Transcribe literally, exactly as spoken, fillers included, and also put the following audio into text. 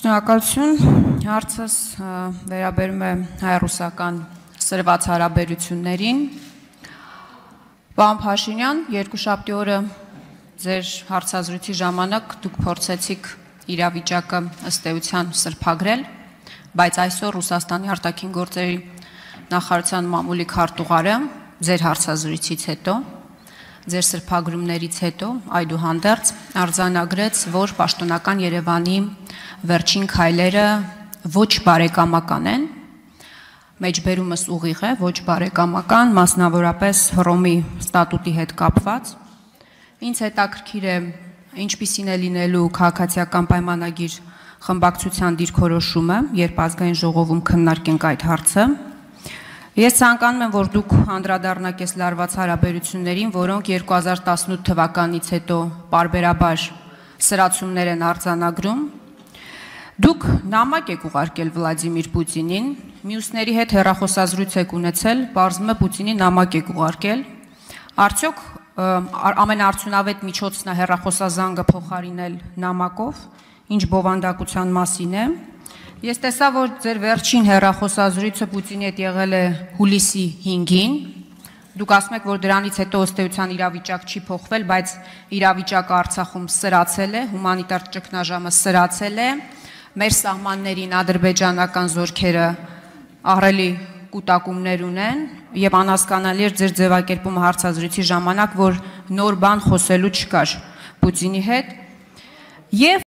Շնորհակալություն, հարցս վերաբերում է հայ-ռուսական սրված հարաբերություններին։ Պարոն Փաշինյան, երկուշաբթի օրը ձեր հարցազրույցի ժամանակ դուք փորձեցիք իրավիճակը ըստ էության սրբագրել, բայց այսօր Ռուսաստանի արտաքին գործերի նախարարության մամուլի քարտուղարը ձեր հարցազրույցից հետո, ձեր սրբագրումներից հետո, այդուհանդերձ արձանագրեց, որ պաշտոնական Երևանի վերջին քայլերը ոչ բարեկամական են, մեջբերումս ուղիղ է, ոչ բարեկամական, մասնավորապես Հռոմի ստատուտի հետ կապված։ Ինձ հետաքրքիր է, ինչպիսին է լինելու քաղաքացիական պայմանագիր խմբակցության դիրքորոշումը, երբ ազգային ժողովում քննարկենք այդ հարցը։ Ես ցանկանում եմ, որ դուք անդրադառնաք այս լարված հարաբերություններին, որոնք երկու հազար տասնութ թվականից հետո պարբերաբար սրացումներ են արձանագրում։ Դուք նամակ եք ուղարկել Վլադիմիր Պուտինին, մյուսների հետ հեռախոսազրույց եք ունեցել, պարզվում է Պուտինին նամակ եք ուղարկել։ Արդյոք ամենաարդյունավետ միջոցն է հեռախոսազանգը փոխարինել նամակով, ինչ բովանդակության մասին է։ Ես տեսա, որ ձեր վերջին հեռախոսազրույցը Պուտինի հետ եղել է հուլիսի հինգին, դուք ասում եք, որ դրանից հետո ըստ էության իրավիճակ չի փոխվել, բայց իրավիճակը Արցախում սրացել է, հումանիտար ճգնաժամը սրացել է, մեր սահմաններին ադրբեջանական զորքերը ահռելի կուտակումներ ունեն եւ անհասկանալի էր ձեր ձևակերպումը հարցազրույցի ժամանակ, որ նոր բան խոսելու չկար Պուտինի հետ եւ